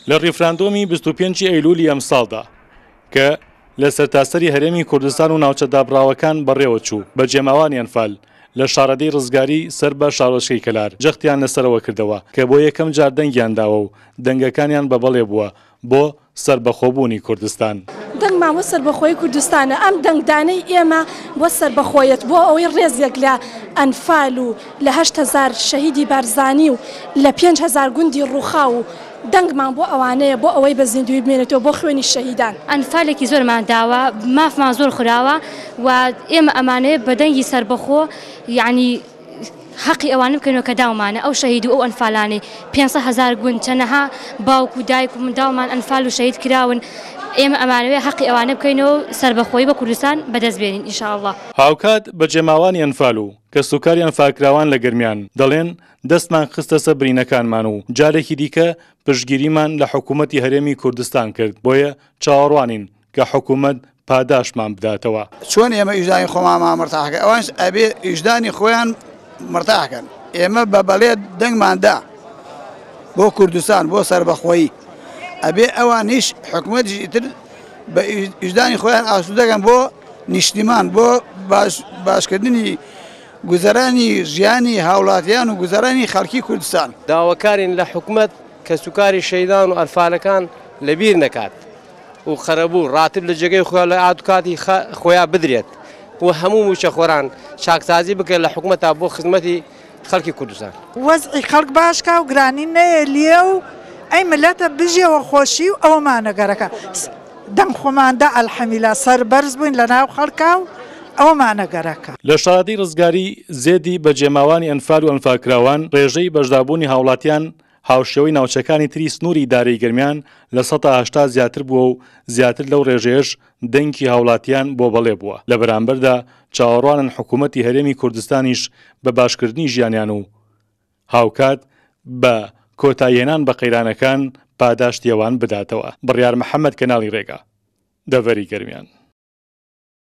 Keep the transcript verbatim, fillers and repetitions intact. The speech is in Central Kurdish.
لە ڕیفراندۆمی بیست و پێنج ئەیلولی ئەمساڵدا کە لە سەرتاسەری هەرێمی کوردستان و ناوچە دابڕاوەکان بەڕێوە چوو، بەجێماوانی ئەنفال لە شارەدێی ڕزگاری سەر بە شارۆچکەی کەلار جەختیان لەسەرەوە کردەوە کە بۆ یەکەم جار دەنگیان داوە و دەنگەکانیان بەبەڵێ بووە بۆ سەربەخۆبوونی کوردستان. دەنگمان بۆ سەربەخۆی کوردستانە. ئەم دەنگدانەی ئێمە بۆ سەربەخۆیەت، بۆ ئەوەی ڕێزێک لە ئەنفال و لە هەشت هەزار شەهیدی بارزانی و لە پێنج هەزار گوندی ڕووخاو و دەنگمان بۆ ئەوانەیە، بۆ ئەوەی بە زیندووی بمێنێتەوە بۆ خوێنی شەهیدان. ئەنفالێکی زۆرمان داوە، مافمان زۆر خوراوە و ئێمە ئەمانەیە بە دەنگی سەربەخۆ یعنی حەقی ئەوانە بکەینەوە کە داومانە، ئەو شەهید و ئەو ئەنفالانەی پێنج هەزار گوند چەنەها باوک و دایک و منداڵمان ئەنفال و شەهید کراون. ئێمە ئەمانەوێ حەقی ئەوانە بکەینەوە و سەربەخۆیی بە کوردستان بەدەست بێنین ئینشاءاللە. هاوکات بەجێماوانی ئەنفال و کەسوکاری ئەنفالکراوان لە گەرمیان دەڵێن دەستمان خستە سەر برینەکانمان و جارێکی دیکە پشتگیریمان لە حکوومەتی هەرێمی کوردستان کرد، بۆیە چاوەڕوانین کە حکوومەت پاداشمان بداتەوە. چۆن ئێمە ئیژدانی خۆمان مرتاحکەن، ئەوانش ئەبێ ئیژدانی خۆیان مرتاحکەن. ئێمە بە بەڵێ دەنگماندا بۆ کوردستان بۆ سەربەخۆیی، ئەبێ ئەوانیش حکوومەتیش ئیتر بە ئیژدانی خۆیان ئاسوودەکەن بۆ نیشتیمان، بۆ باشکردنی گوزەرانی ژیانی هاوڵاتیان و گوزەرانی خەڵکی کوردستان. داواکارین لە حکوومەت کەسوکاری شەیدان و ئەنفالەکان لەبیر نەکات و قەرەبوو ڕاتب لە جێگەی خۆیان لە ئادوکاتی خۆیان بدرێت و هەموو موچەخۆران چاکسازی بکەن لە حکوومەتە بۆ خزمەتی خەڵکی کوردستان. وەزعی خەڵک باشکا و گرانی نەیە و ئەی ملەتە بژێوە خۆشی و ئەومانە گەرەکە دەم خۆماندا ئەلحەمیلا سەربەرز بووین لە ناو خەڵکا و ئەومانە گەرەکە. لە شارەدێی ڕزگاری زێدی بەجێماوانی ئەنفال و ئەنفالکراوان ڕێژەی بەشداربوونی هاوڵاتیان هاوشێوەی ناوچەکانی تری سنووری ئیدارەی گەرمیان لە سەدا هەشتا زیاتر بووە و زیاتر لەو ڕێژەیەش دەنگی هاوڵاتیان بۆ بەڵێ بووە. لە بەرامبەردا چاوەڕوانن حکوومەتی هەرێمی کوردستانیش بە باشکردنی ژیانیان و هاوکات بە کۆتاییهێنان بە قەیرانەکان پاداشتی ئەوان بداتەوە. بڕیار محەممەد، کەناڵی ڕێگا، دەڤەری گەرمیان.